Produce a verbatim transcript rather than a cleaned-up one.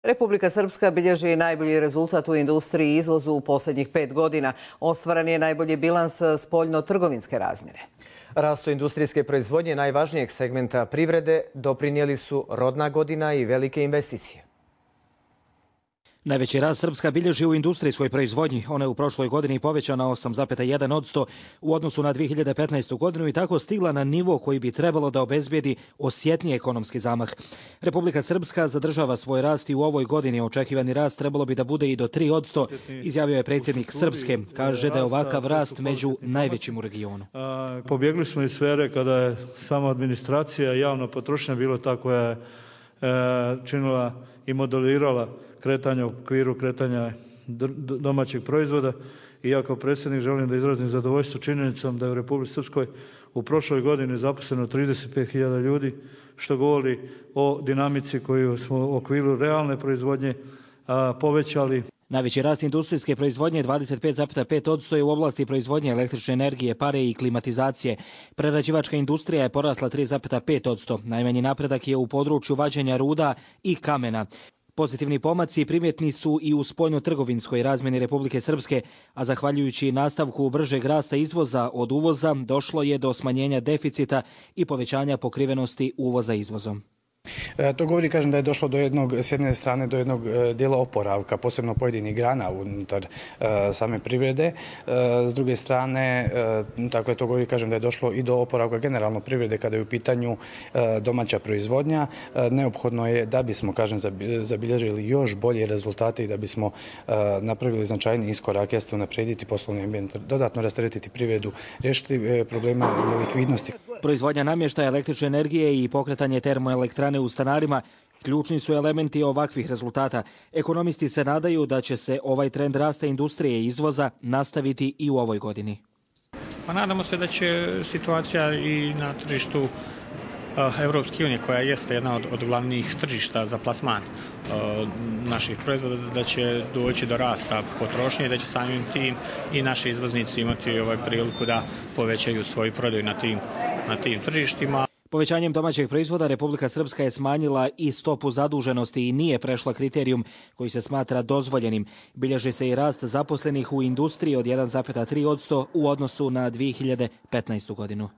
Republika Srpska bilježi najbolji rezultat u industriji i izvozu u posljednjih pet godina. Ostvaren je najbolji bilans spoljno-trgovinske razmjere. Rastu industrijske proizvodnje najvažnijeg segmenta privrede doprinijeli su rodna godina i velike investicije. Najveći rast Srpska bilježi u industrijskoj proizvodnji. Ona je u prošloj godini povećana osam zarez jedan posto u odnosu na dvije hiljade petnaestu. godinu i tako stigla na nivo koji bi trebalo da obezbijedi osjetniji ekonomski zamah. Republika Srpska zadržava svoj rast i u ovoj godini. Očekivani rast trebalo bi da bude i do tri posto, izjavio je predsjednik Srpske. Kaže da je ovakav rast među najvećim u regionu. Pobjegli smo iz sfere kada je sama administracija i javna potrošnja bila ta koja je činila i modelirala kretanja u okviru kretanja domaćeg proizvoda. I ja kao predsjednik želim da izrazim zadovoljstvo činjenicom da je u Republici Srpskoj u prošloj godini zaposleno trideset pet hiljada ljudi, što govori o dinamici koju smo u okviru realne proizvodnje povećali. Najveći rast industrijske proizvodnje dvadeset pet zarez pet posto je u oblasti proizvodnje električne energije, pare i klimatizacije. Prerađivačka industrija je porasla tri zarez pet posto. Najmanji napredak je u području vađenja ruda i kamena. Pozitivni pomaci primjetni su i u spoljno-trgovinskoj razmjeni Republike Srpske, a zahvaljujući nastavku bržeg rasta izvoza od uvoza došlo je do smanjenja deficita i povećanja pokrivenosti uvoza izvozom. To govori, kažem, da je došlo do jednog, s jedne strane, do jednog dijela oporavka, posebno pojedinih grana unutar same privrede. S druge strane, dakle, to govori, kažem, da je došlo i do oporavka generalno privrede kada je u pitanju domaća proizvodnja. Neophodno je da bismo, kažem, zabilježili još bolje rezultate i da bismo napravili značajni iskorak, jeste unaprijediti poslovni ambijent, dodatno rasteretiti privredu, riješiti problema nelikvidnosti. Proizvodnja namještaja, električne energije i pokretanje termoelektrane u stanarima ključni su elementi ovakvih rezultata. Ekonomisti se nadaju da će se ovaj trend rasta industrije i izvoza nastaviti i u ovoj godini. Pa nadamo se da će situacija i na tržištu Evropske unije, koja jeste jedna od, od glavnih tržišta za plasman naših proizvoda, da će doći do rasta potrošnje i da će samim tim i naši izvoznici imati ovaj priliku da povećaju svoju prodaju na tim, na tim tržištima. Povećanjem domaćeg proizvoda Republika Srpska je smanjila i stopu zaduženosti i nije prešla kriterijum koji se smatra dozvoljenim. Bilježi se i rast zaposlenih u industriji od jedan zarez tri posto u odnosu na dvije hiljade petnaestu. godinu.